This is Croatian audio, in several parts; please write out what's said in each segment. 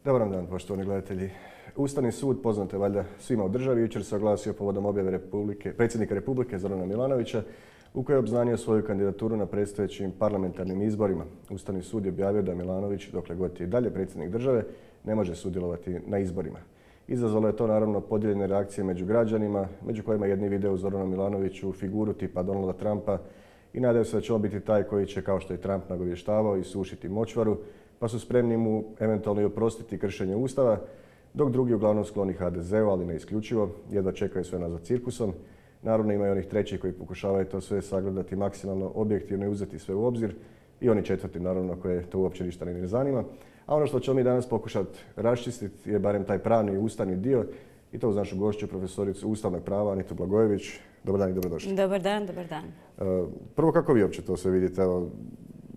Dobar dan, poštovani gledatelji. Ustavni sud, poznat je valjda svima u državi, jučer se oglasio povodom objave predsjednika Republike Zorana Milanovića u kojoj je obznanio svoju kandidaturu na predstojećim parlamentarnim izborima. Ustavni sud je objavio da Milanović, dokle god je i dalje predsjednik države, ne može sudjelovati na izborima. Izazvalo je to naravno podijeljene reakcije među građanima, među kojima jedni vide u Zoranu Milanoviću figuru tipa Donalda Trumpa i nadaju se da će on biti taj koji će, kao što je Trump nagovještavao, isušiti močvaru, pa su spremni mu eventualno i oprostiti kršenje Ustava, dok drugi uglavnom skloni HDZ-u, ali ne isključivo, jedva čekaju sve nazad cirkusom. Naravno ima i onih trećih koji pokušavaju to sve sagledati maksimalno objektivno i uzeti sve u obzir, i oni četvrti naravno koje to uopće ništa ne zanima. A ono što ćemo mi danas pokušati raščistiti je barem taj pravni i ustavni dio, i to uz našu gošću, profesoricu ustavnog prava Anitu Blagojević. Dobar dan i dobrodošli. Dobar dan, dobar dan. Prvo, kako vi uopće to sve vidite?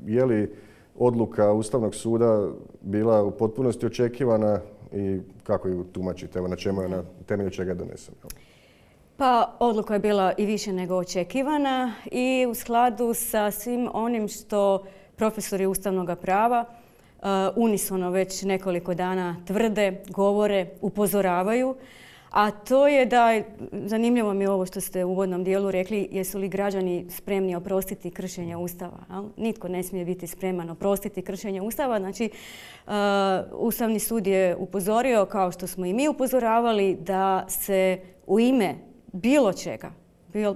Je li odluka Ustavnog suda bila u potpunosti očekivana i kako ju tumačite? Na čemu je, na temelju čega je donesena? Pa odluka je bila i više nego očekivana i u skladu sa svim onim što profesori ustavnog prava unisono već nekoliko dana tvrde, govore, upozoravaju. A to je da, zanimljivo mi je ovo što ste u uvodnom dijelu rekli, jesu li građani spremni oprostiti kršenje Ustava. Nitko ne smije biti spreman oprostiti kršenje Ustava. Znači, Ustavni sud je upozorio, kao što smo i mi upozoravali, da se u ime bilo čega,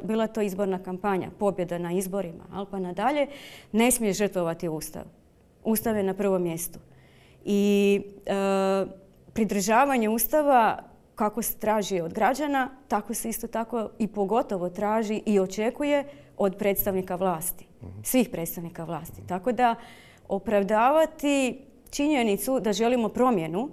bila to izborna kampanja, pobjeda na izborima, pa nadalje, ne smije žrtvovati Ustav. Ustav je na prvom mjestu. I pridržavanje Ustava, kako se traži od građana, tako se isto tako i pogotovo traži i očekuje od predstavnika vlasti, svih predstavnika vlasti. Tako da opravdavati činjenicu da želimo promjenu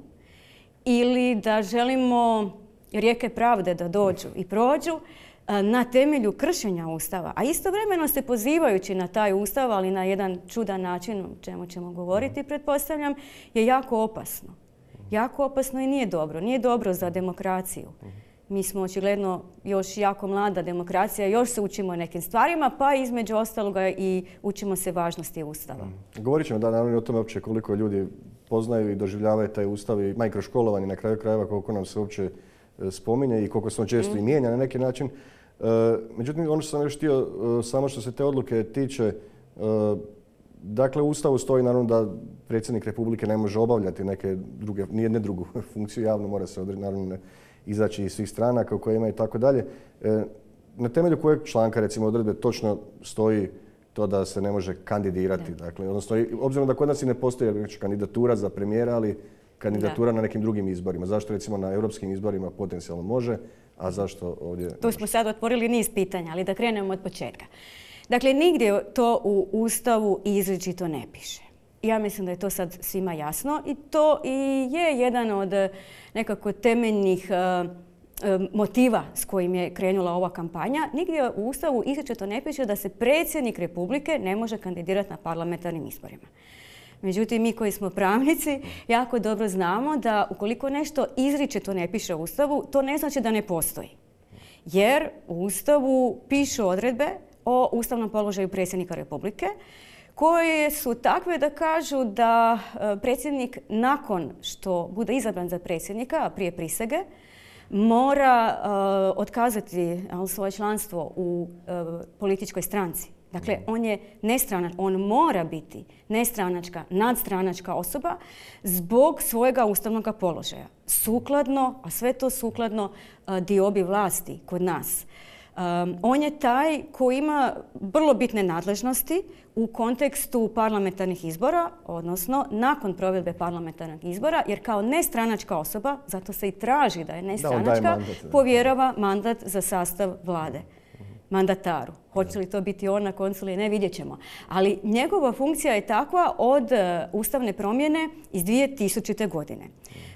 ili da želimo rijeke pravde da dođu i prođu na temelju kršenja Ustava, a istovremeno se pozivajući na taj Ustav, ali na jedan čudan način, o čemu ćemo govoriti, pretpostavljam, je jako opasno. Jako opasno i nije dobro. Nije dobro za demokraciju. Mi smo očigledno još jako mlada demokracija, još se učimo nekim stvarima, pa između ostaloga i učimo se važnosti Ustava. Govorit ćemo naravno o tome uopće koliko ljudi poznaju i doživljavaju taj Ustav i mikroškolovanje na kraju krajeva, koliko nam se uopće spominje i koliko se on često i mijenja na neki način. Međutim, ono što sam još htio, samo što se te odluke tiče, dakle, u Ustavu stoji naravno da predsjednik Republike ne može obavljati nijedne drugu funkciju javno, mora se naravno izaći iz svih stranaka u koje ima i tako dalje. Na temelju kojeg članka, recimo, odredbe točno stoji to da se ne može kandidirati? Dakle, odnosno, obzirom da kod nas i ne postoji kandidatura za premijera, ali kandidatura na nekim drugim izborima. Zašto recimo na europskim izborima potencijalno može, a zašto ovdje ne može? Tu smo sad otvorili niz pitanja, ali da krenemo od početka. Dakle, nigdje to u Ustavu izričito ne piše. Ja mislim da je to sad svima jasno i to i je jedan od nekako temeljnih motiva s kojim je krenula ova kampanja. Nigdje u Ustavu izričito ne piše da se predsjednik Republike ne može kandidirati na parlamentarnim izborima. Međutim, mi koji smo pravnici jako dobro znamo da ukoliko nešto izričito ne piše u Ustavu, to ne znači da ne postoji. Jer u Ustavu pišu odredbe o ustavnom položaju predsjednika Republike koje su takve da kažu da predsjednik nakon što bude izabran za predsjednika, a prije prisege, mora otkazati svoje članstvo u političkoj stranci. Dakle, on je nestranački, on mora biti nestranačka, nadstranačka osoba zbog svojega ustavnog položaja. Sukladno, a sve to sukladno diobi vlasti kod nas. On je taj koji ima vrlo bitne nadležnosti u kontekstu parlamentarnih izbora, odnosno nakon provedbe parlamentarnih izbora, jer kao nestranačka osoba, zato se i traži da je nestranačka, povjerava mandat za sastav vlade mandataru. Hoće li to biti on na koncu ili ne, vidjet ćemo. Ali njegova funkcija je takva od ustavne promjene iz 2000. godine.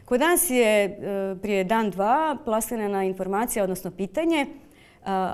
Kod nas je prije dan, dva plasirana informacija, odnosno pitanje,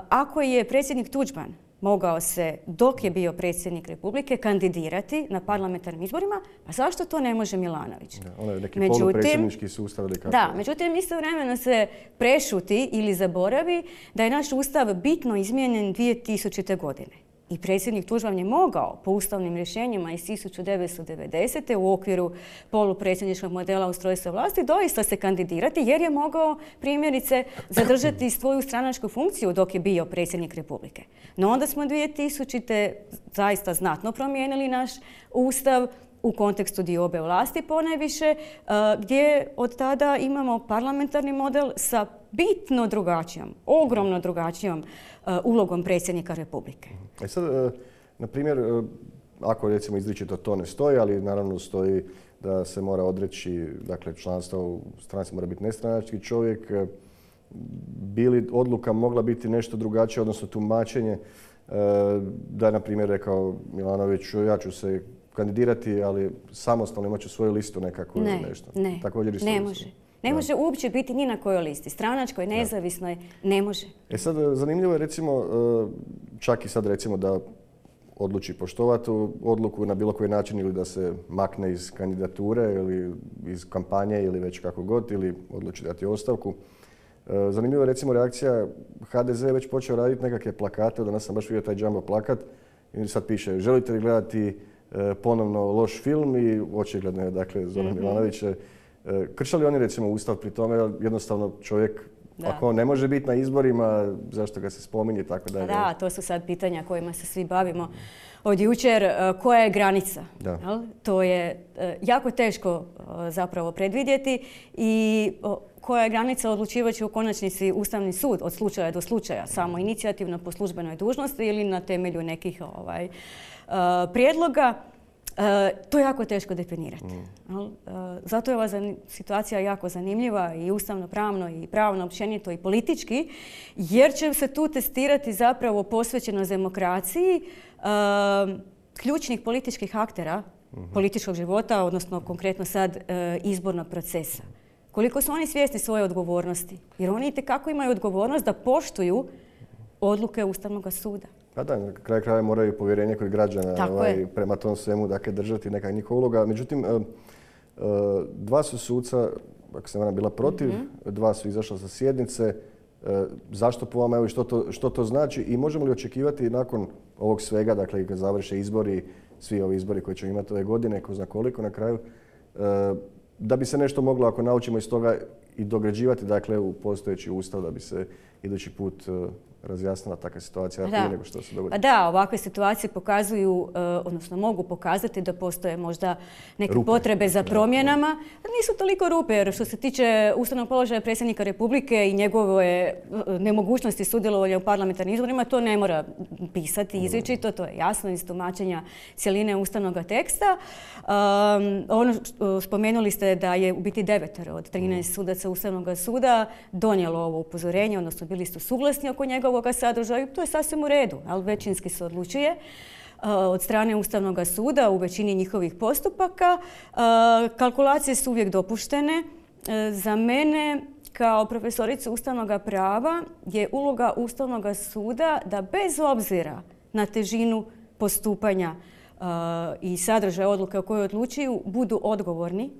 ako je predsjednik Tuđman mogao se, dok je bio predsjednik Republike, kandidirati na parlamentarnim izborima, a zašto to ne može Milanović? Ono je neki polupredsjednički sustav. Da, međutim, istovremeno se prešuti ili zaboravi da je naš ustav bitno izmijenjen 2000. godine. i predsjednik Tuđman je mogao po ustavnim rješenjima iz 1990. u okviru polupredsjedničkog modela ustrojstva vlasti doista se kandidirati jer je mogao primjerice zadržati svoju stranačku funkciju dok je bio predsjednik Republike. No onda smo 2000. zaista znatno promijenili naš ustav u kontekstu diobe vlasti ponajviše, gdje od tada imamo parlamentarni model sa bitno drugačijom, ogromno drugačijom ulogom predsjednika Republike. Sad, na primjer, ako recimo izričito to ne stoji, ali naravno stoji da se mora odreći, dakle članstvo u stranci mora biti nestranački čovjek, bi li odluka mogla biti nešto drugačije, odnosno tumačenje, da je na primjer rekao Milanović, ja ću se kandidirati, ali samostalno imat ću svoju listu nekako ili nešto. Ne može. Ne može uopće biti ni na kojoj listi. Stranačkoj, nezavisnoj, ne može. Sad, zanimljivo je recimo, čak i sad recimo da odluči poštovati odluku na bilo koji način ili da se makne iz kandidature ili iz kampanje ili već kako god, ili odluči dati ostavku. Zanimljiva je recimo reakcija, HDZ je već počeo raditi nekakve plakate, danas sam baš vidio taj jumbo plakat i sad piše, želite li gledati ponovno loš film i očigledno je, dakle, Zoran Milanović. Krše li oni recimo ustav pri tome, jednostavno čovjek, ako on ne može biti na izborima, zašto ga se spominje i tako dalje? Da, to su sad pitanja kojima se svi bavimo od jučer. Koja je granica? To je jako teško zapravo predvidjeti i koja je granica odlučivat će u konačnici Ustavni sud od slučaja do slučaja, samo inicijativno po službenoj dužnosti ili na temelju nekih prijedloga. To je jako teško definirati. Zato je ova situacija jako zanimljiva i ustavno-pravno i pravno općenito i politički, jer će se tu testirati zapravo posvećenost demokraciji ključnih političkih aktera političkog života, odnosno konkretno sad izbornog procesa. Koliko su oni svjesni svoje odgovornosti? Jer oni itekako imaju odgovornost da poštuju odluke Ustavnog suda. Pa da, na kraju kraja moraju povjerenje kod građana prema tom svemu, dakle, držati neka njihova uloga. Međutim, dva su suca, ako se ne varam, bila protiv, dva su izašla sa sjednice. Zašto po vama, evo, što to znači i možemo li očekivati nakon ovog svega, dakle, kad završe izbori, svi ovi izbori koji ćemo imati ove godine, ko zna koliko na kraju, da bi se nešto moglo, ako naučimo iz toga, i dograđivati, dakle, u postojeći ustav, da bi se idući put razjasnila takva situacija prije nego što se dogodi. Da, ovakve situacije pokazuju, odnosno mogu pokazati da postoje možda neke potrebe za promjenama. Nisu toliko rupe, jer što se tiče ustavnog položaja predsjednika Republike i njegove nemogućnosti sudjelovanja u parlamentarnim izborima, to ne mora pisati izričito, to je jasno iz tumačenja cjeline ustavnog teksta. Spomenuli ste da je u biti 9 od 13 sudaca Ustavnog suda donijelo ovo upozorenje, odnosno bili su suglasni oko njegovog sadržaju. To je sasvim u redu, ali većinski se odlučuje od strane Ustavnog suda u većini njihovih postupaka. Kalkulacije su uvijek dopuštene. Za mene kao profesoricu ustavnog prava je uloga Ustavnog suda da bez obzira na težinu postupanja i sadržaja odluke o kojoj odlučuju budu odgovorni,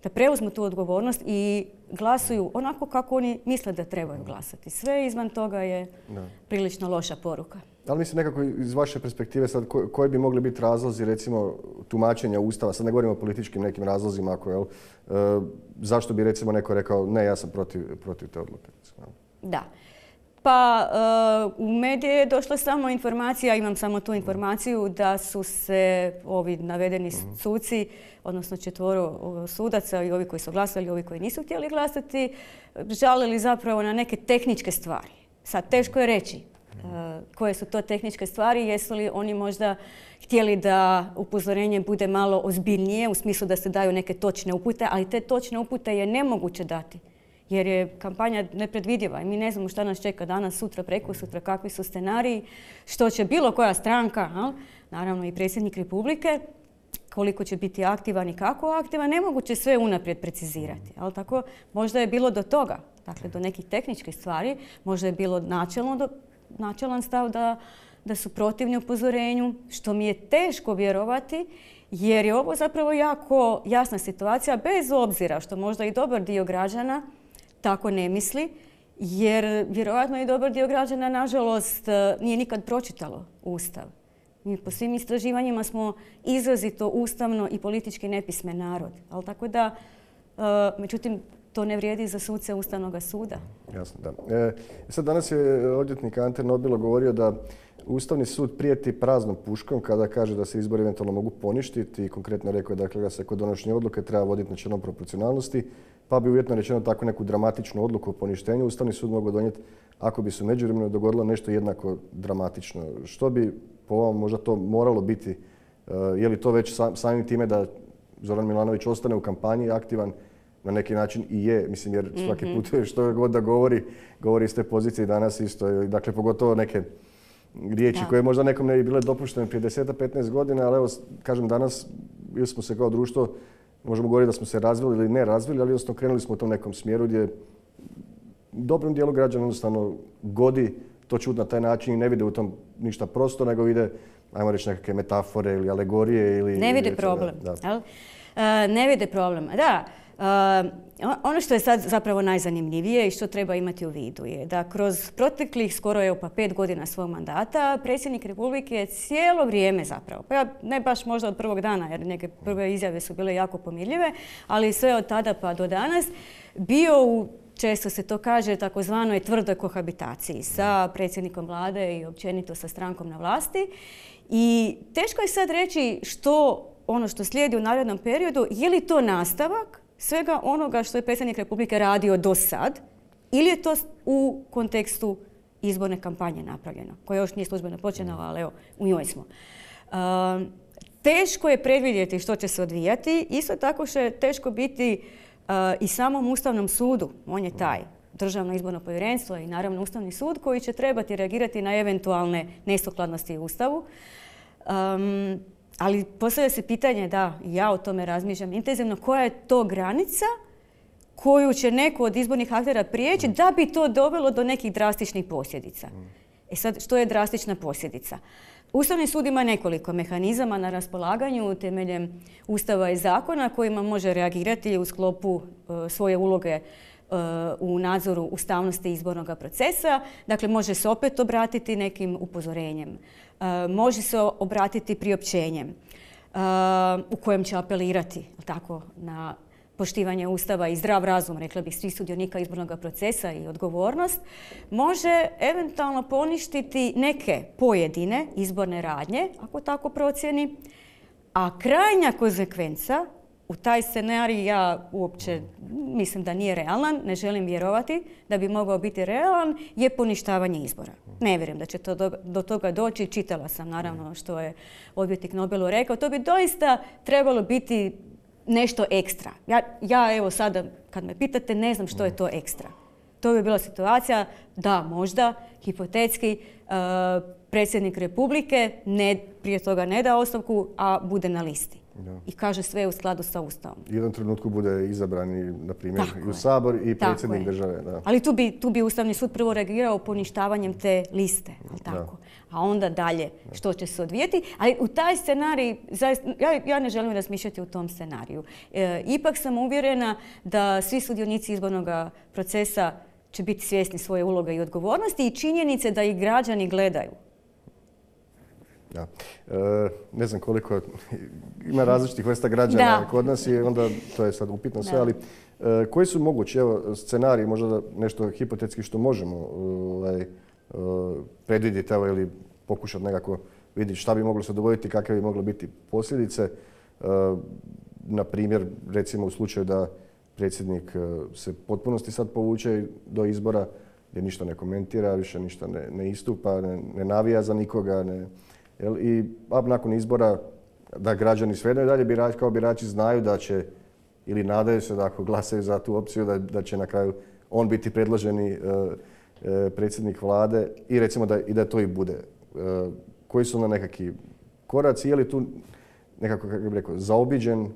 da preuzmu tu odgovornost i glasuju onako kako oni misle da trebaju glasati. Sve izvan toga je prilično loša poruka. Ali mislim nekako iz vaše perspektive sad koji bi mogli biti razlozi recimo tumačenja Ustava, sad ne govorimo o političkim nekim razlozima, ako, zašto bi recimo neko rekao ne, ja sam protiv te odluke? Da. Pa u medije je došla samo informacija, imam samo tu informaciju da su se ovi navedeni suci, odnosno 4 sudaca i ovi koji su glasali i ovi koji nisu htjeli glasati, žalili zapravo na neke tehničke stvari. Sad teško je reći koje su to tehničke stvari, jesu li oni možda htjeli da upozorenje bude malo ozbiljnije u smislu da se daju neke točne upute, ali te točne upute je nemoguće dati. Jer je kampanja nepredvidiva i mi ne znamo šta nas čeka danas, sutra, prekosutra, kakvi su scenariji, što će bilo koja stranka, naravno i predsjednik Republike, koliko će biti aktivan i kako aktivan, nemoguće sve unaprijed precizirati. Ali tako, možda je bilo do toga, dakle do nekih tehničkih stvari, možda je bilo načelan stav da su protivni upozorenju, što mi je teško vjerovati, jer je ovo zapravo jako jasna situacija, bez obzira što možda i dobar dio građana tako ne misli, jer vjerojatno i dobar dio građana, nažalost, nije nikad pročitalo Ustav. Mi po svim istraživanjima smo izrazito ustavno i politički nepismen narod. Ali tako da, međutim, to ne vrijedi za suce Ustavnog suda. Jasno, da. Sad danas je odvjetnik Ante Nobilo govorio da Ustavni sud prijeti praznom puškom kada kaže da se izbori eventualno mogu poništiti i konkretno rekao je dakle, da se kod donošenja odluke treba voditi načelom proporcionalnosti, pa bi uvjetno rečeno tako neku dramatičnu odluku o poništenju Ustavni sud mogao donijeti ako bi se u međuvremenu dogodilo nešto jednako dramatično. Što bi po ovom možda to moralo biti? Je li to već samim time da Zoran Milanović ostane u kampanji aktivan, na neki način i je, mislim, jer svaki put što god da govori iz te pozicije danas isto. Dakle, pogotovo neke riječi koje možda nekom ne bi bile dopuštene prije 10-15 godina, ali evo, kažem, danas ili smo se kao društvo, možemo govoriti da smo se razvili ili ne razvili, ali jednostavno krenuli smo u tom nekom smjeru gdje dobrom dijelu građana jednostavno godi to čuti na taj način i ne vide u tom ništa prosto, nego vide, ajmo reći, nekakve metafore ili alegorije. Ili ne vide problem. Ne vide problem. Da. Ono što je sad zapravo najzanimljivije i što treba imati u vidu je da kroz proteklih skoro 5 godina svog mandata predsjednik Republike cijelo vrijeme zapravo, pa ne baš možda od prvog dana jer neke prve izjave su bile jako pomirljive, ali sve od tada pa do danas bio u, često se to kaže, takozvanoj tvrdoj kohabitaciji sa predsjednikom vlade i općenito sa strankom na vlasti. I teško je sad reći ono što slijedi u narednom periodu, je li to nastavak svega onoga što je predsjednik Republike radio do sad ili je to u kontekstu izborne kampanje napravljeno, koja još nije službeno počela, ali evo, u njoj smo. Teško je predvidjeti što će se odvijati, isto tako će teško biti i samom Ustavnom sudu, on je taj, Državno izborno povjerenstvo i naravno Ustavni sud koji će trebati reagirati na eventualne nesukladnosti u Ustavu. Ali postavlja se pitanje, da, ja o tome razmišljam intenzivno, koja je to granica koju će neko od izbornih aktera prijeći da bi to dovelo do nekih drastičnih posljedica. Sad, što je drastična posljedica? Ustavni sud ima nekoliko mehanizama na raspolaganju temeljem Ustava i zakona kojima može reagirati u sklopu svoje uloge u nadzoru ustavnosti izbornog procesa. Dakle, može se opet obratiti nekim upozorenjem. Može se obratiti priopćenjem u kojem će apelirati tako, na poštivanje Ustava i zdrav razum, rekla bih, svih sudionika izbornog procesa i odgovornost. Može eventualno poništiti neke pojedine izborne radnje, ako tako procijeni, a krajnja konsekvenca u taj scenarij ja uopće mislim da nije realan, ne želim vjerovati da bi mogao biti realan, je poništavanje izbora. Ne vjerujem da će to do toga doći. Čitala sam naravno što je odvjetnik Nobilo rekao. To bi doista trebalo biti nešto ekstra. Ja evo sada kad me pitate ne znam što je to ekstra. To bi bila situacija da možda hipotetski predsjednik Republike prije toga ne da ostavku, a bude na listi. Da. I kaže sve u skladu sa Ustavom. U jednom trenutku bude izabrani, na primjer, i u Sabor i predsjednik države. Da. Ali tu bi Ustavni sud prvo reagirao poništavanjem te liste. Tako? A onda dalje što će se odvijeti. Ali u taj scenarij, ja ne želim razmišljati u tom scenariju. Ipak sam uvjerena da svi sudionici izbornog procesa će biti svjesni svoje uloge i odgovornosti i činjenice da ih građani gledaju. Da. Ne znam koliko ima različitih vrsta građana kod nas i onda to je sad upitno sve, ali koji su mogući scenariji, možda nešto hipotetski što možemo predvidjeti ili pokušati nekako vidjeti šta bi moglo se dogoditi, kakve bi mogle biti posljedice. Na primjer, recimo u slučaju da predsjednik se potpunosti sad povuče do izbora, gdje ništa ne komentira, više ništa ne istupa, ne navija za nikoga, i nakon izbora da građani svejedno i dalje kao birači znaju da će ili nadaju se da ako glasaju za tu opciju da će na kraju on biti predloženi predsjednik vlade i recimo da to i bude. Koji su onda nekakvi koraci, je li tu nekako, kako bih rekao, zaobiđen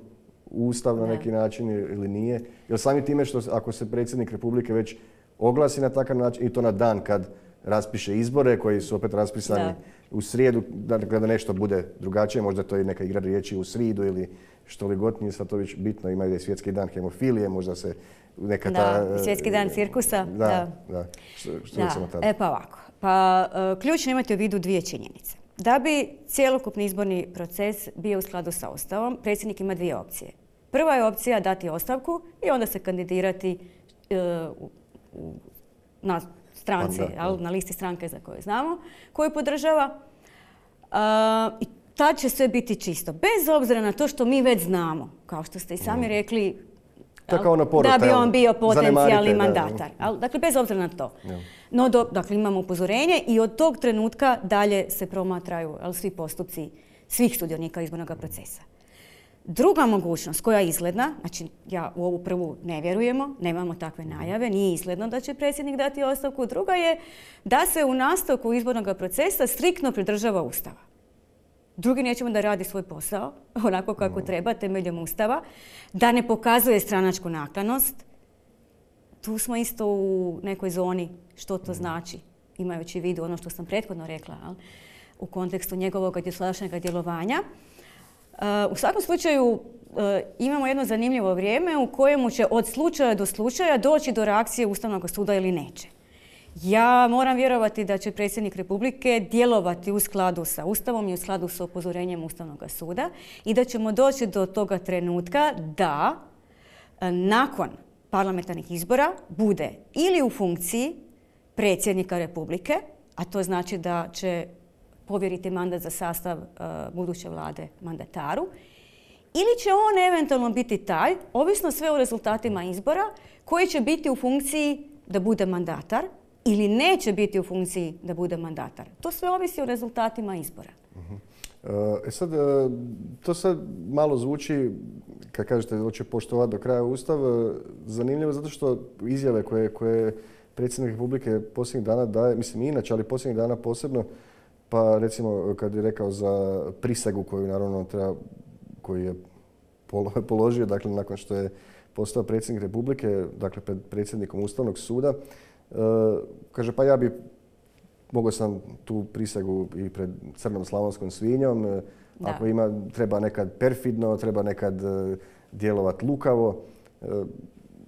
Ustav na neki način ili nije? Jer sami time što ako se predsjednik Republike već oglasi na takav način i to na dan kad raspiše izbore koji su opet raspisani u srijedu, dakle da nešto bude drugačije, možda to je neka igra riječi u sridu ili što li god, nije sad to već bitno, imaju i svjetski dan hemofilije, možda se neka ta... svjetski dan cirkusa. Da. Što recimo tada? Pa ovako, ključno imate u vidu dvije činjenice. da bi cjelokupni izborni proces bio u skladu sa Ustavom, predsjednik ima dvije opcije. Prva je opcija dati ostavku i onda se kandidirati na stranci, na listi stranke za koju znamo, koju podržava. I tad će sve biti čisto. Bez obzira na to što mi već znamo, kao što ste i sami rekli, da bi on bio potencijalni mandatar. Dakle, bez obzira na to. No, dakle, imamo upozorenje i od tog trenutka dalje se promatraju svi postupci svih sudionika izbornog procesa. Druga mogućnost koja je izgledna, znači ja u ovu prvu ne vjerujemo, nemamo takve najave, nije izgledno da će predsjednik dati ostavku. Druga je da se u nastavku izbornog procesa striktno pridržava Ustava. Drugi nećemo da radi svoj posao, onako kako treba, temeljem Ustava, da ne pokazuje stranačku naklonost. Tu smo isto u nekoj zoni što to znači, imajući u vidu ono što sam prethodno rekla, u kontekstu njegovog dosadašnjeg djelovanja. U svakom slučaju imamo jedno zanimljivo vrijeme u kojemu će od slučaja do slučaja doći do reakcije Ustavnog suda ili neće. Ja moram vjerovati da će predsjednik Republike djelovati u skladu sa Ustavom i u skladu sa upozorenjem Ustavnog suda i da ćemo doći do toga trenutka da nakon parlamentarnih izbora bude ili u funkciji predsjednika Republike, a to znači da će povjeriti mandat za sastav buduće vlade mandataru, ili će on eventualno biti taj, ovisno sve o rezultatima izbora, koji će biti u funkciji da bude mandatar ili neće biti u funkciji da bude mandatar. To sve ovisi o rezultatima izbora. To sad malo zvuči, kad kažete da će poštovati do kraja Ustav, zanimljivo zato što izjave koje predsjednik Republike posljednjih dana daje, mislim inače, ali posljednjih dana posebno, pa recimo kad je rekao za prisegu koju naravno koju je položio, dakle nakon što je postao predsjednik Republike, dakle pred predsjednikom Ustavnog suda, kaže pa mogao sam tu prisegu i pred crnom slavonskom svinjom, ako treba nekad perfidno, treba nekad djelovati lukavo.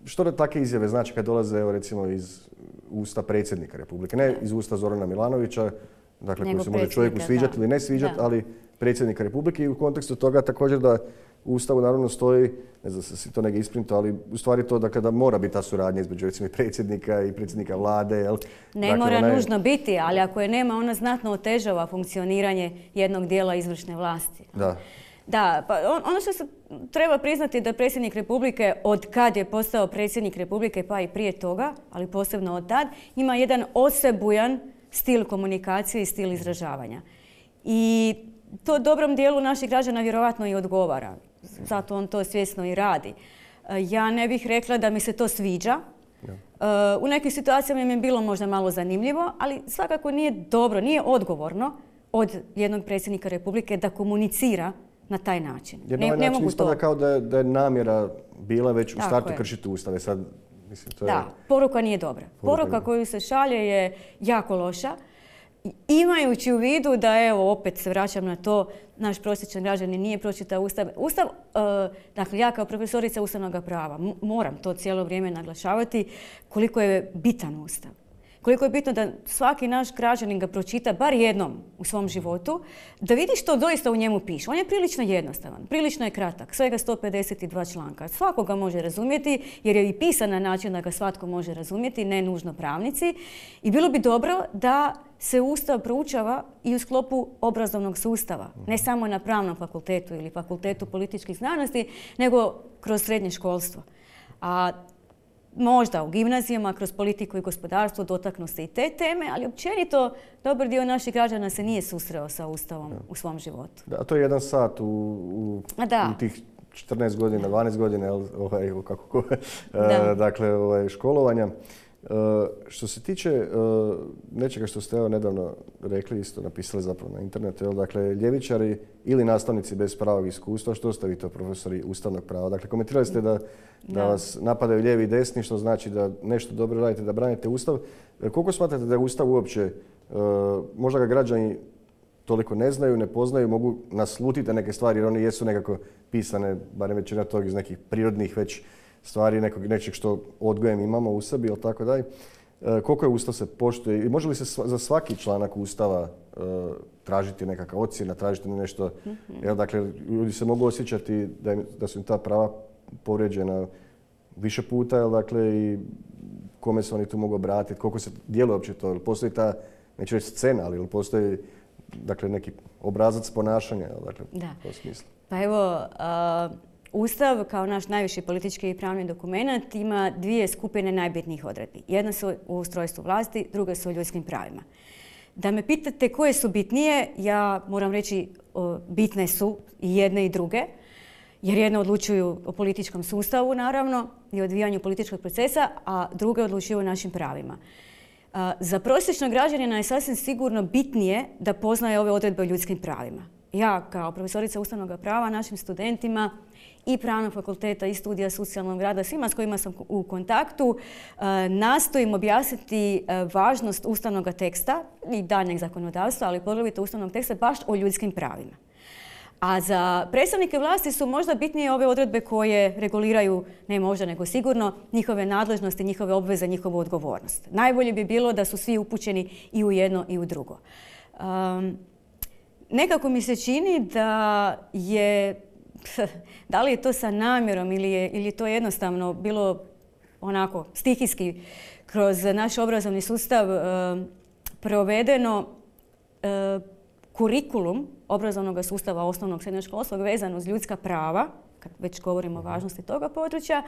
Što da takve izjave znači kad dolaze evo, recimo iz usta predsjednika Republike, ne iz usta Zorana Milanovića, dakle koji se može čovjeku sviđati ili ne sviđati, ali predsjednika Republike i u kontekstu toga također da u Ustavu naravno stoji, ne znam se si to negdje isprinto, ali u stvari to da mora biti ta suradnja između recimo predsjednika i predsjednika vlade. Jel? Ne mora nužno biti, ali ako je nema, ona znatno otežava funkcioniranje jednog dijela izvršne vlasti. Da, pa ono što se treba priznati da predsjednik Republike, od kad je postao predsjednik Republike, pa i prije toga, ali posebno od tad, ima jedan osebujan stil komunikacije i stil izražavanja. I to dobrom dijelu naših građana vjerojatno i odgovara. Zato on to svjesno i radi. Ja ne bih rekla da mi se to sviđa. U nekim situacijama mi je bilo možda malo zanimljivo, ali svakako nije dobro, nije odgovorno od jednog predsjednika Republike da komunicira na taj način. Jer na ovaj način ispada kao da je namjera bila već u startu kršiti Ustave. Poruka nije dobra. Poruka koju se šalje je jako loša. Imajući u vidu da, evo, opet se vraćam na to, naš prosječan građanin nije pročitao Ustav. Dakle, ja kao profesorica ustavnog prava moram to cijelo vrijeme naglašavati koliko je bitan Ustav. Koliko je bitno da svaki naš građanin ga pročita bar jednom u svom životu, da vidi što doista u njemu piše. On je prilično jednostavan, prilično je kratak, svega 152 članka. Svako ga može razumjeti jer je i pisan na način da ga svatko može razumjeti, ne nužno pravnici. I bilo bi dobro da se Ustav proučava i u sklopu obrazovnog sustava. Ne samo na pravnom fakultetu ili fakultetu političkih znanosti, nego kroz srednje školstvo. A možda u gimnazijama, kroz politiku i gospodarstvo dotaknu se i te teme, ali općenito dobar dio naših građana se nije susreo sa Ustavom u svom životu. Da, to je jedan sat u tih 14 godina, 12 godina dakle, školovanja. Što se tiče nečega što ste nedavno rekli, isto napisali zapravo na internetu, dakle, ljevičari ili nastavnici bez pravog iskustva, što ste vi to profesori ustavnog prava? Dakle, komentirali ste da vas napadaju lijevi i desni, što znači da nešto dobro radite, da branite Ustav. Koliko smatrate da je Ustav uopće, možda ga građani toliko ne znaju, ne poznaju, mogu naslutiti neke stvari jer oni jesu nekako pisane, barem većina tog iz nekih prirodnih već stvari, nečeg što odgojem imamo u sebi ili tako dalje. koliko je Ustav se poštuje i može li se za svaki članak Ustava tražiti nekakva ocjena, tražiti nešto. Dakle, ljudi se mogu osjećati da su im ta prava povrijeđena više puta, dakle, i kome se oni tu mogu obratiti, koliko se djeluje uopće to. Postoji ta, neću reći scena, ali postoji dakle, neki obrazac ponašanja, dakle, u tom smislu. Pa evo, Ustav kao naš najviši politički i pravni dokument ima dvije skupine najbitnijih odredbi. Jedna su u ustrojstvu vlasti, druga su u ljudskim pravima. Da me pitate koje su bitnije, ja moram reći bitne su i jedne i druge, jer jedne odlučuju o političkom sustavu, naravno, i odvijanju političkog procesa, a druge odlučuju o našim pravima. Za prosječnog građanina je sasvim sigurno bitnije da poznaje ove odredbe o ljudskim pravima. Ja, kao profesorica ustavnog prava, našim studentima i pravnog fakulteta i studija socijalnog rada, svima s kojima sam u kontaktu, nastojim objasniti važnost ustavnog teksta i daljnjeg zakonodavstva, ali poglavito ustavnog teksta baš o ljudskim pravima. A za predstavnike vlasti su možda bitnije ove odredbe koje reguliraju, ne možda nego sigurno, njihove nadležnosti, njihove obveze, njihovu odgovornost. Najbolje bi bilo da su svi upućeni i u jedno i u drugo. Nekako mi se čini da je, da li je to sa namjerom ili je to jednostavno bilo onako stihijski kroz naš obrazovni sustav provedeno kurikulum obrazovnog sustava osnovnog srednjoškolskog vezano uz ljudska prava, kad već govorimo o važnosti toga područja,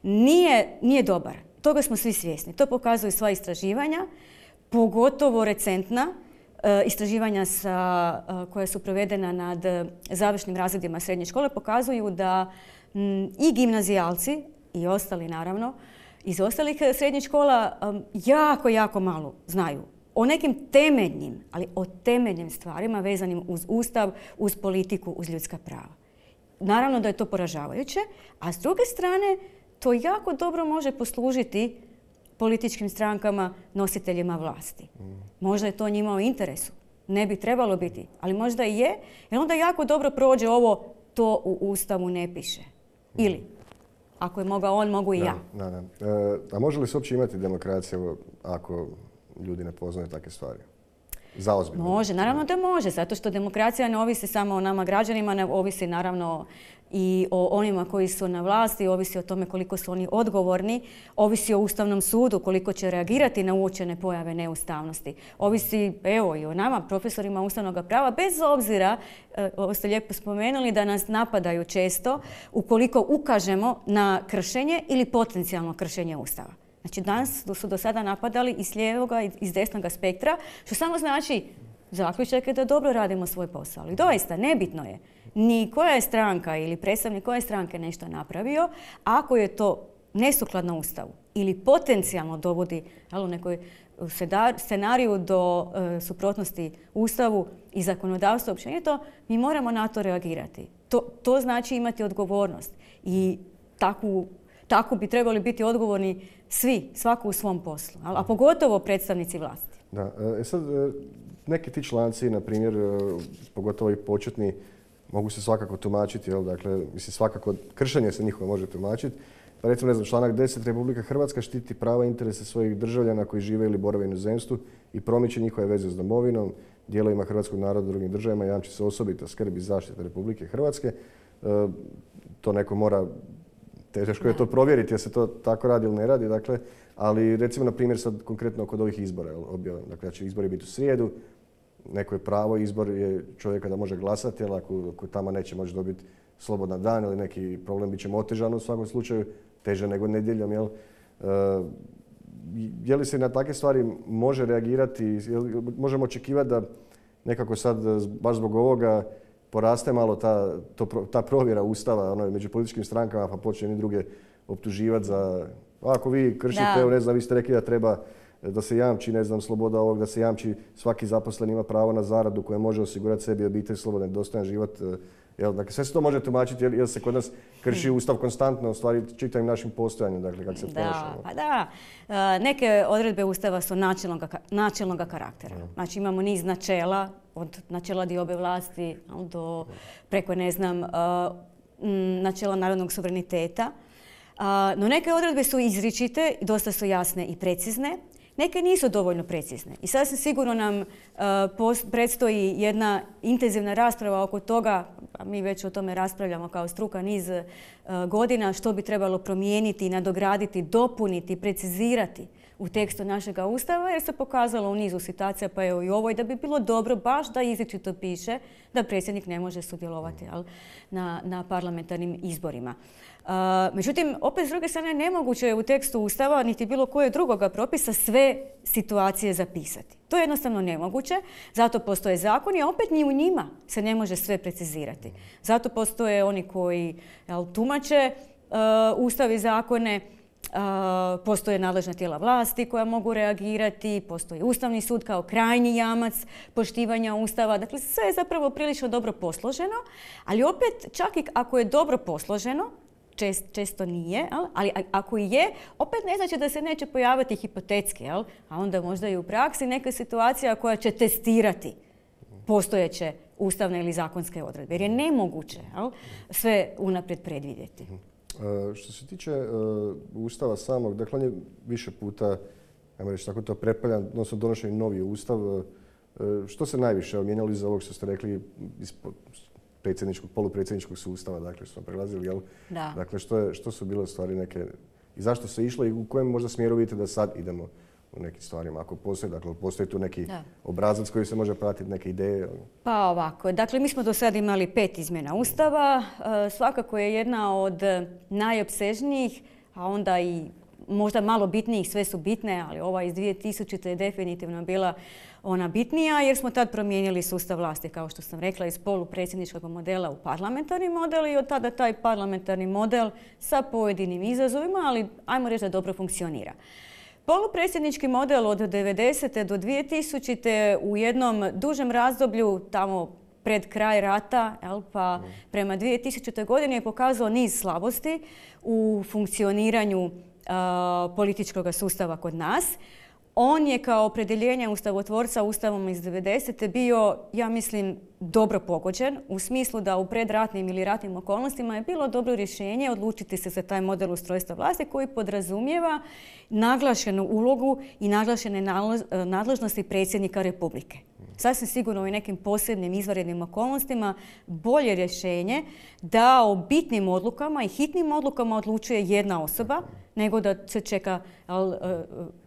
nije dobar. Toga smo svi svjesni. To pokazuju sva istraživanja, pogotovo recentna istraživanja koja su provedena nad završnim razredima srednje škole pokazuju da i gimnazijalci i ostali naravno iz ostalih srednjih škola jako malo znaju o nekim temeljnim, ali o temeljnim stvarima vezanim uz Ustav, uz politiku, uz ljudska prava. Naravno da je to poražavajuće, a s druge strane to jako dobro može poslužiti političkim strankama, nositeljima vlasti. Možda je to njima u interesu. Ne bi trebalo biti, ali možda i je, jer onda jako dobro prođe ovo to u Ustavu ne piše. Ili, ako je mogao on, mogu i ja. A može li se uopće imati demokracija ako ljudi ne poznaju takve stvari? Zaozbiljno. Može, naravno da može, zato što demokracija ne ovisi samo o nama građanima, ne ovisi naravno i o onima koji su na vlasti, ovisi o tome koliko su oni odgovorni, ovisi o Ustavnom sudu, koliko će reagirati na uočene pojave neustavnosti. Ovisi, evo, i o nama, profesorima ustavnog prava, bez obzira, ovo ste lijepo spomenuli, da nas napadaju često ukoliko ukažemo na kršenje ili potencijalno kršenje Ustava. Znači, danas su do sada napadali i s lijevoga i s desnoga spektra, što samo znači zaključak je da dobro radimo svoj posao. Ali doista, nebitno je ni koja je stranka ili predstavnik koje stranke nešto napravio, ako je to nesukladno Ustavu ili potencijalno dovodi u nekoj scenariju do suprotnosti Ustavu i zakonodavstva općenito, mi moramo na to reagirati. To znači imati odgovornost i tako bi trebali biti odgovorni svi, svako u svom poslu, a pogotovo predstavnici vlasti. Da, sad neki ti članci, na primjer, pogotovo i početni, mogu se svakako tumačiti, dakle, mislim, svakako kršenje se njihovo može tumačiti. Pa recimo, ne znam, članak 10. Republika Hrvatska štiti prava i interese svojih državljana koji žive ili borave u inozemstvu i promiče njihove veze s domovinom, dijelovima hrvatskog naroda u drugim državama, jamči se osobita skrb i zaštita Republike Hrvatske. To neko mora, teško je to provjeriti jer se to tako radi ili ne radi, dakle, ali recimo, na primjer, sad konkretno kod ovih izbora, dakle, će izbori biti u srijedu, neko je pravo, izbor je čovjeka da može glasati, ali ako tamo neće moći dobiti slobodan dan ili neki problem, bit će mu otežano u svakom slučaju, teže nego nedjeljom, jel? Je li se na takve stvari može reagirati, možemo očekivati da nekako sad, baš zbog ovoga, poraste malo ta provjera Ustava među političkim strankama, pa počne i druge optuživati za, ako vi kršite, ne znam, vi ste rekli da treba da se jamči, ne znam, sloboda ovog, da se jamči svaki zaposlen ima pravo na zaradu koja može osigurati sebi obitelj, slobodan i dostojan život. Dakle, sve se to može tumačiti jer se kod nas krši Ustav konstantno, u stvari čitavim našim postojanjem, dakle, kako se ponašamo. Neke odredbe Ustava su načelnog karaktera. Znači, imamo niz načela, od načela diobe vlasti do preko, ne znam, načela narodnog suvereniteta. No neke odredbe su izričite, dosta su jasne i precizne. neke nisu dovoljno precizne. I sasvim sigurno nam predstoji jedna intenzivna rasprava oko toga, a mi već o tome raspravljamo kao struka niz godina, što bi trebalo promijeniti, nadograditi, dopuniti, precizirati u tekstu našega Ustava, jer se pokazalo u nizu situacija, pa evo i ovoj, da bi bilo dobro baš da izričito piše da predsjednik ne može sudjelovati na parlamentarnim izborima. Međutim, opet s druge strane nemoguće je u tekstu Ustava niti bilo koje drugoga propisa sve situacije zapisati. To je jednostavno nemoguće, zato postoje zakoni, a opet ni u njima se ne može sve precizirati. Zato postoje oni koji tumače Ustav i zakone, postoje nadležna tijela vlasti koja mogu reagirati, postoji Ustavni sud kao krajnji jamac poštivanja Ustava. Dakle, sve je zapravo prilično dobro posloženo, ali opet čak i ako je dobro posloženo, često nije, ali ako i je, opet ne znači da se neće pojaviti hipotetski, a onda možda i u praksi neka situacija koja će testirati postojeće ustavne ili zakonske odredbe, jer je nemoguće sve unaprijed predvidjeti. Što se tiče Ustava samog, dakle on je više puta, ajmo reći tako to prepaljan, odnosno donošen novi Ustav. Što se najviše mijenjali iz ovog što ste rekli iz polupredsjedničkog sustava, dakle što smo prelazili, jel? Da. Dakle, što su bile stvari neke i zašto se išlo i u kojem možda smjeru vidite da sad idemo u nekim stvarima, ako postoji, dakle postoji tu neki obrazac koji se može pratiti, neke ideje? Pa ovako, dakle mi smo do sada imali 5 izmjena Ustava, svakako je jedna od najopsežnijih, a onda i možda malo bitnijih, sve su bitne, ali ova iz 2000. je definitivno bila ona bitnija jer smo tad promijenili sustav vlasti, kao što sam rekla, iz polupredsjedničkog modela u parlamentarni model i od tada taj parlamentarni model sa pojedinim izazovima, ali ajmo reći da dobro funkcionira. Polupredsjednički model od 90. do 2000. u jednom dužem razdoblju, tamo pred kraj rata, pa prema 2000. godini je pokazao niz slabosti u funkcioniranju političkog sustava kod nas. On je kao opredjeljenje ustavotvorca Ustavom iz 90. bio, ja mislim, dobro pogođen u smislu da u predratnim ili ratnim okolnostima je bilo dobro rješenje odlučiti se za taj model ustrojstva vlasti koji podrazumijeva naglašenu ulogu i naglašene nadležnosti predsjednika Republike. Sasvim sigurno u nekim posebnim izvanrednim okolnostima bolje rješenje da o bitnim odlukama i hitnim odlukama odlučuje jedna osoba nego da se čeka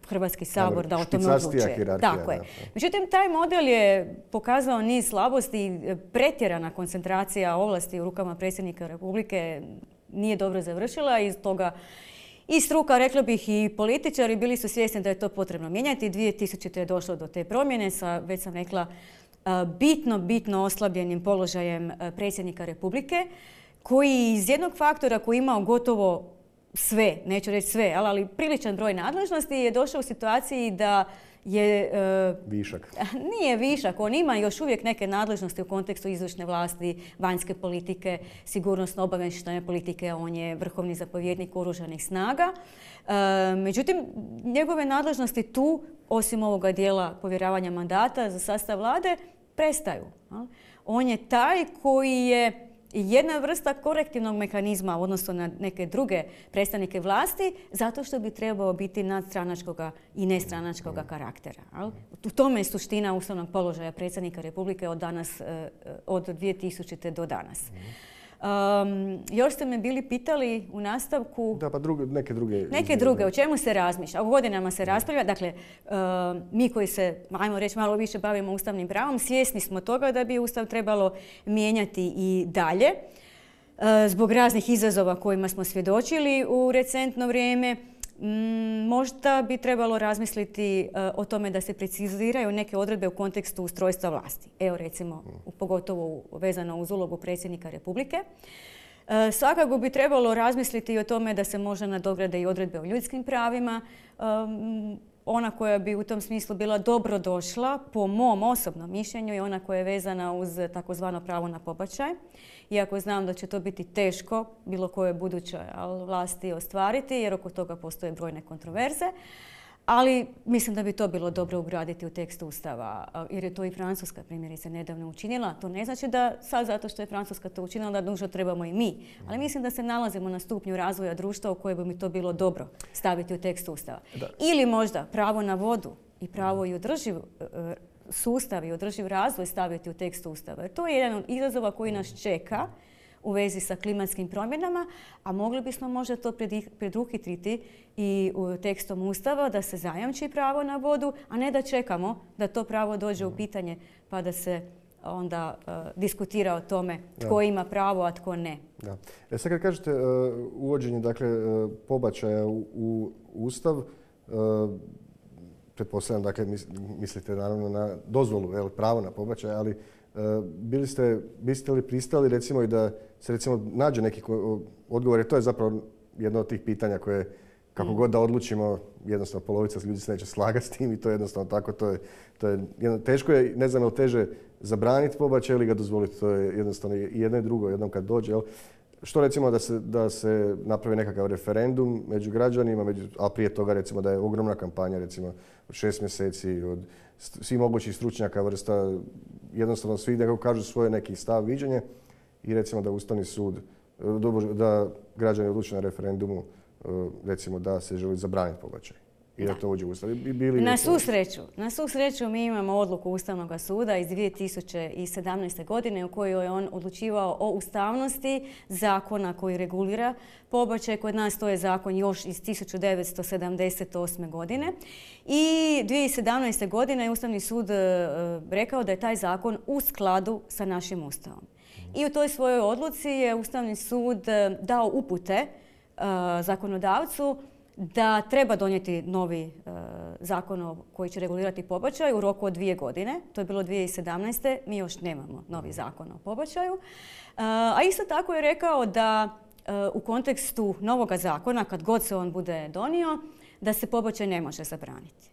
Hrvatski sabor da o tome odlučuje. Tako je. Međutim, taj model je pokazao niz slabosti i pretjerana koncentracija ovlasti u rukama predsjednika Republike nije dobro završila i toga i struka, rekla bih, i političari bili su svjesni da je to potrebno mijenjati. 2000. je došlo do te promjene sa, već sam rekla, bitno oslabljenim položajem predsjednika Republike, koji iz jednog faktora koji je imao gotovo sve, neću reći sve, ali priličan broj nadležnosti je došao u situaciji da je... Višak. Nije višak, on ima još uvijek neke nadležnosti u kontekstu izvršne vlasti, vanjske politike, sigurnosno-obavještajne politike, on je vrhovni zapovjednik oružanih snaga. Međutim, njegove nadležnosti tu, osim ovoga dijela povjeravanja mandata za sastav vlade, prestaju. On je taj koji je jedna vrsta korektivnog mehanizma u odnosu na neke druge predstavnike vlasti, zato što bi trebao biti nadstranačkog i nestranačkog karaktera. U tome je suština ustavnog položaja predsjednika Republike od 2000. do danas. Još ste me bili pitali u nastavku... Da, pa neke druge. O čemu se razmišlja? O godinama se raspravlja. Dakle, mi koji se, ajmo reći, malo više bavimo ustavnim pravom, svjesni smo toga da bi Ustav trebalo mijenjati i dalje zbog raznih izazova kojima smo svjedočili u recentno vrijeme. Možda bi trebalo razmisliti o tome da se preciziraju neke odredbe u kontekstu ustrojstva vlasti. Evo recimo, pogotovo vezano uz ulogu predsjednika Republike. Svakako bi trebalo razmisliti i o tome da se možda nadograde i odredbe o ljudskim pravima. Ona koja bi u tom smislu bila dobro došla, po mom osobnom mišljenju, je ona koja je vezana uz takozvano pravo na pobačaj. Iako znam da će to biti teško bilo koje buduće vlasti ostvariti, jer oko toga postoje brojne kontroverze. Ali mislim da bi to bilo dobro ugraditi u tekst Ustava, jer je to i Francuska primjerice nedavno učinila. To ne znači da sad zato što je Francuska to učinila da nužno trebamo i mi. Ali mislim da se nalazimo na stupnju razvoja društva u kojem bi mi to bilo dobro staviti u tekst Ustava. Da. Ili možda pravo na vodu i pravo i održiv sustav i održiv razvoj staviti u tekst Ustava. Jer to je jedan od izazova koji nas čeka u vezi sa klimatskim promjenama, a mogli bismo možda to preduhitriti i u tekstom Ustava da se zajamči pravo na vodu, a ne da čekamo da to pravo dođe u pitanje pa da se onda diskutira o tome tko ima pravo, a tko ne. Da. Sad kad kažete uvođenje pobačaja u Ustav, pretpostavljam, dakle, mislite naravno na dozvolu, pravo na pobačaj, ali biste li pristali recimo i da se recimo nađe neki odgovor, jer to je zapravo jedno od tih pitanja koje kako god da odlučimo, jednostavno polovica ljudi se neće slagati s tim i to je jednostavno tako, teško je, ne znam je li teže zabraniti pobačaj ili ga dozvoliti, to je jednostavno i jedno i drugo, jednom kad dođe. Što recimo da se napravi nekakav referendum među građanima, a prije toga recimo da je ogromna kampanja recimo od 6 mjeseci, od svih mogućih stručnjaka vrsta, jednostavno svi nekako kažu svoje neki stav, viđenje i recimo da Ustavni sud, da građani odluče na referendumu recimo da se želi zabraniti pobačaj. I da to uđe u Ustav. Na svu sreću mi imamo odluku Ustavnog suda iz 2017. godine u kojoj je on odlučivao o ustavnosti zakona koji regulira pobačaj. Kod nas to je zakon još iz 1978. godine. I 2017. godine je Ustavni sud rekao da je taj zakon u skladu sa našim Ustavom. I u toj svojoj odluci je Ustavni sud dao upute zakonodavcu da treba donijeti novi zakon koji će regulirati pobačaj u roku od 2 godine. To je bilo 2017. Mi još nemamo novi zakon o pobačaju. A isto tako je rekao da u kontekstu novoga zakona, kad god se on bude donio, da se pobačaj ne može zabraniti.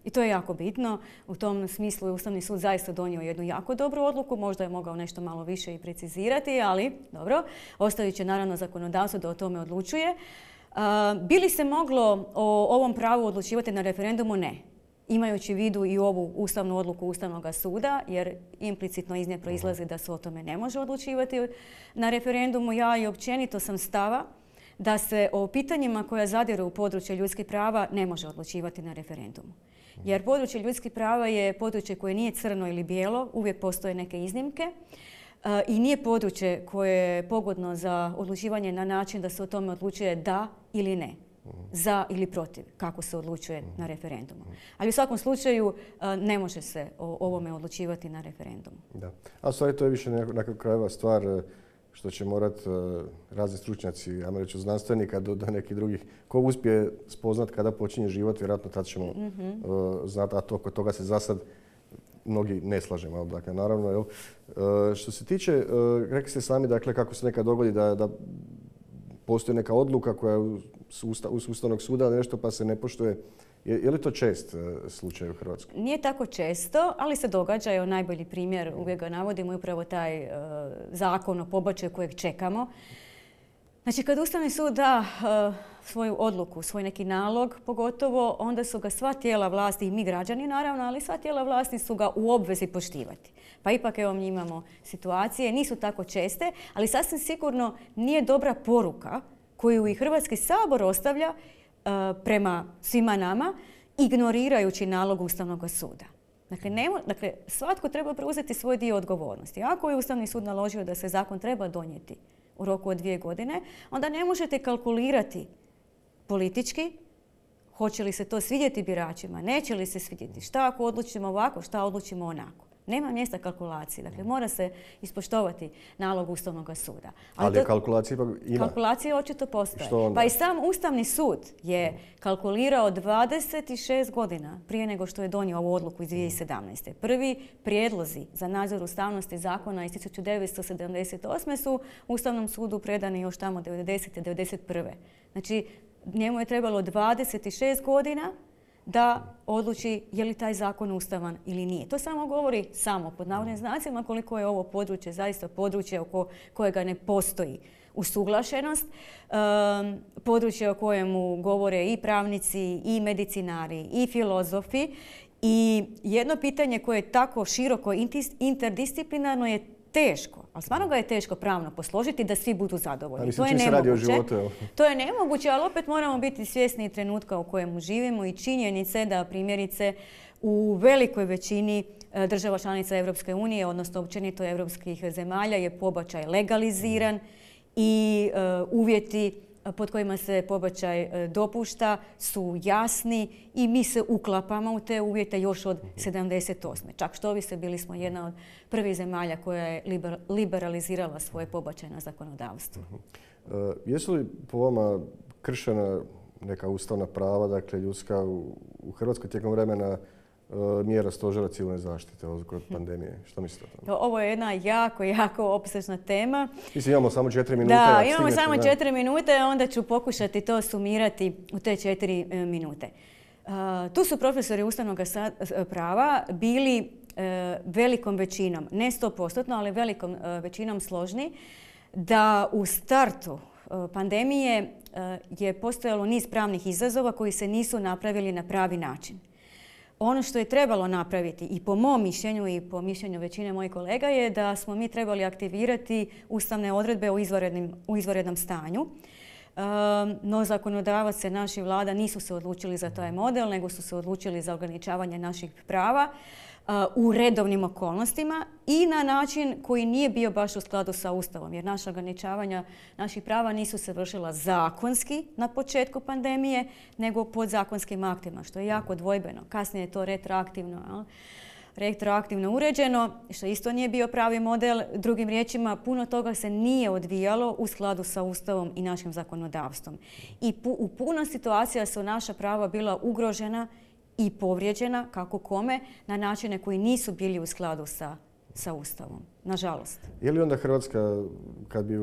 I to je jako bitno. U tom smislu je Ustavni sud zaista donio jednu jako dobru odluku. Možda je mogao nešto malo više i precizirati, ali dobro, ostavit će naravno zakonodavstvo da o tome odlučuje. Bi li se moglo o ovom pravu odlučivati na referendumu? Ne. Imajući u vidu i ovu ustavnu odluku Ustavnog suda, jer implicitno iz nje proizlazi da se o tome ne može odlučivati na referendumu. Ja i općenito sam stava da se o pitanjima koja zadiru u područje ljudskih prava ne može odlučivati na referendumu. Jer područje ljudskih prava je područje koje nije crno ili bijelo, uvijek postoje neke iznimke. I nije područje koje je pogodno za odlučivanje na način da se o tome odlučuje da ili ne, za ili protiv, kako se odlučuje na referendumu. Ali u svakom slučaju ne može se o ovome odlučivati na referendumu. Da. A u stvari to je više na krajeva stvar što će morati razni stručnjaci, ajmo reći od znanstvenika do nekih drugih, ko uspije spoznat kada počinje život, vjerojatno tad ćemo znati, a oko toga se za sad mnogi ne slažemo. Dakle, naravno, što se tiče, rekli ste sami, dakle, kako se nekad dogodi da postoji neka odluka koja je uz Ustavnog suda nešto pa se ne poštuje. Je li to čest slučaj u Hrvatskoj? Nije tako često, ali se događa. Evo, najbolji primjer, uvijek ga navodimo, je upravo taj zakon o pobačaju kojeg čekamo. Znači, kad Ustavni sud da svoju odluku, svoj neki nalog pogotovo, onda su ga sva tijela vlasti, i mi građani naravno, ali sva tijela vlasti su ga u obvezi poštivati. Pa ipak evo mi imamo situacije, nisu tako česte, ali sasvim sigurno nije dobra poruka koju i Hrvatski sabor ostavlja prema svima nama, ignorirajući nalog Ustavnog suda. Dakle, svatko treba preuzeti svoj dio odgovornosti. Ako je Ustavni sud naložio da se zakon treba donijeti u roku od 2 godine, onda ne možete kalkulirati politički hoće li se to svidjeti biračima, neće li se svidjeti, šta ako odlučimo ovako, šta odlučimo onako. Nema mjesta kalkulaciji. Dakle, mora se ispoštovati nalog Ustavnog suda. Ali kalkulacija ipak ima. Kalkulacija očito postoje. Pa i sam Ustavni sud je kalkulirao 26 godina prije nego što je donio ovu odluku iz 2017. Prvi prijedlozi za nadzor ustavnosti zakona iz 1978. su Ustavnom sudu predani još tamo 90. 91. Znači, njemu je trebalo 26 godina da odluči je li taj zakon ustavan ili nije. To samo govori pod navodnim znacima koliko je ovo područje zaista područje oko kojega ne postoji usuglašenost, područje o kojemu govore i pravnici, i medicinari, i filozofi. I jedno pitanje koje je tako široko interdisciplinarno je teško, ali stvarno ga je teško pravno posložiti da svi budu zadovoljni. To je nemoguće. To je nemoguće, ali opet moramo biti svjesni trenutka u kojemu živimo i činjenice da primjerice u velikoj većini država članica Europske unije, odnosno općenito europskih zemalja, je pobačaj legaliziran i uvjeti pod kojima se pobačaj dopušta su jasni i mi se uklapamo u te uvjete još od 78. Čak što vi se bili smo jedna od prvih zemalja koja je liberalizirala svoje pobačajno zakonodavstvo. Jesu li po vama kršena neka ustavna prava, dakle ljudska u Hrvatskoj tijekom vremena mjera stožera civilne zaštite kod pandemije? Što mislite o tome? Ovo je jedna jako opsežna tema. Mislim, imamo samo 4 minute. Da, imamo samo 4 minute, onda ću pokušati to sumirati u te 4 minute. Tu su profesori ustavnog prava bili velikom većinom, ne 100%, ali velikom većinom složni, da u startu pandemije je postojalo niz pravnih izazova koji se nisu napravili na pravi način. Ono što je trebalo napraviti i po mom mišljenju i po mišljenju većine mojih kolega je da smo mi trebali aktivirati ustavne odredbe u izvanrednom stanju. No zakonodavac se naši vlada nisu se odlučili za taj model, nego su se odlučili za ograničavanje naših prava u redovnim okolnostima i na način koji nije bio baš u skladu sa Ustavom, jer naša ograničavanja naših prava nisu se vršila zakonski na početku pandemije, nego podzakonskim aktima, što je jako dvojbeno. Kasnije je to retroaktivno uređeno, što isto nije bio pravi model. Drugim riječima, puno toga se nije odvijalo u skladu sa Ustavom i našim zakonodavstvom. I u puno situacija su naša prava bila ugrožena i povrijeđena, kako kome, na načine koji nisu bili u skladu sa Ustavom. Nažalost. Je li onda Hrvatska, kad bi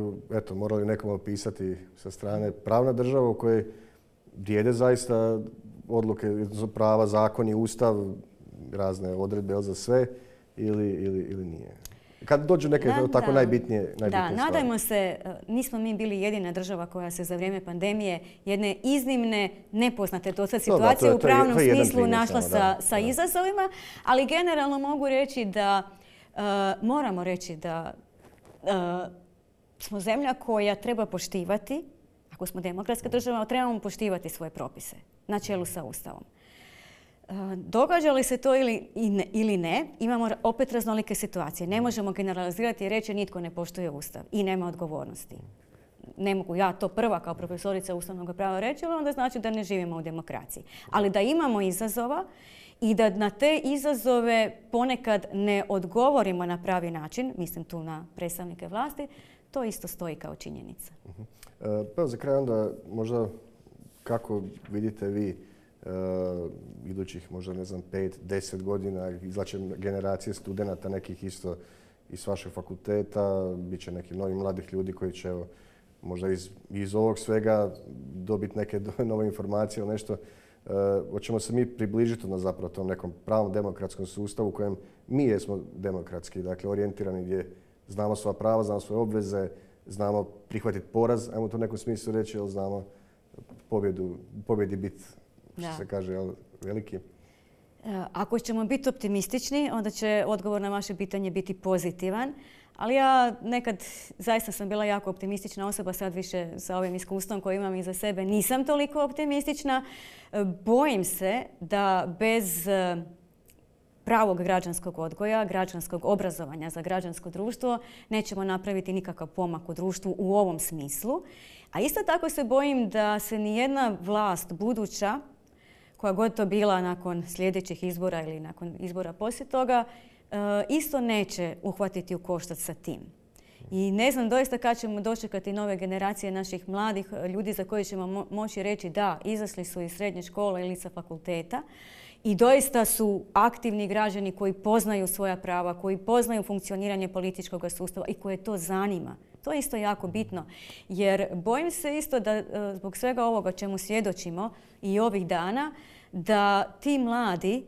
morali nekom opisati sa strane, pravna država u kojoj vrijede zaista odluke, prava, zakoni, Ustav, razne odredbe za sve ili nije? Kad dođu neke tako najbitnije stvari. Da, nadajmo se, nismo mi bili jedina država koja se za vrijeme pandemije jedne iznimne, nepoznate do sad situacije u pravnom smislu našla sa izazovima, ali generalno mogu reći da moramo reći da smo zemlja koja treba poštivati, ako smo demokratska država, trebamo poštivati svoje propise na čelu sa Ustavom. Događa li se to ili ne, imamo opet raznolike situacije. Ne možemo generalizirati i reći nitko ne poštuje Ustav i nema odgovornosti. Ne mogu ja to prva kao profesorica ustavnog prava reći, ali onda znači da ne živimo u demokraciji. Ali da imamo izazova i da na te izazove ponekad ne odgovorimo na pravi način, mislim tu na predstavnike vlasti, to isto stoji kao činjenica. Pa za kraj onda možda kako vidite vi idućih možda 5-10 godina izlače generacije studenata nekih isto iz vašeg fakulteta, bit će nekih novih mladih ljudi koji će možda iz ovog svega dobiti neke nove informacije ili nešto. Hoćemo se mi približiti na zapravo tom nekom pravom demokratskom sustavu u kojem mi jesmo demokratski, dakle orijentirani gdje znamo svoja prava, znamo svoje obveze, znamo prihvatiti poraz, ajmo to u nekom smislu reći, jer znamo pobjedi biti, što se kaže, veliki. Ako ćemo biti optimistični, onda će odgovor na vaše pitanje biti pozitivan. Ali ja nekad zaista sam bila jako optimistična osoba, sad više sa ovim iskustvom koje imam iza sebe nisam toliko optimistična. Bojim se da bez pravog građanskog odgoja, građanskog obrazovanja za građansko društvo nećemo napraviti nikakav pomak u društvu u ovom smislu. A isto tako se bojim da se nijedna vlast buduća, koja god to bila nakon sljedećih izbora ili nakon izbora poslije toga, isto neće uhvatiti u koštac sa tim. I ne znam doista kad ćemo dočekati nove generacije naših mladih ljudi za koje ćemo moći reći da, izašli su iz srednje škole ili sa fakulteta i doista su aktivni građani koji poznaju svoja prava, koji poznaju funkcioniranje političkog sustava i koje to zanima. To je isto jako bitno, jer bojim se isto da zbog svega ovoga čemu svjedočimo i ovih dana, da ti mladi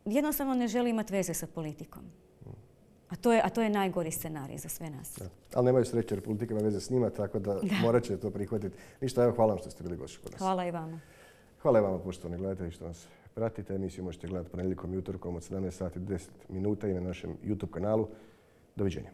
jednostavno ne žele imati veze sa politikom. A to je najgori scenarij za sve nas. Da. Ali nemaju sreće jer politika ima veze s njima, tako da morat će to prihvatiti. Ništa, evo, hvala vam što ste bili gošći kod nas. Hvala i vama. Hvala i vama, poštovani gledatelji, što nas pratite. Emisiju možete gledati ponedjeljkom i utorkom od 17 sati 10 minuta i na našem YouTube kanalu. Doviđenja.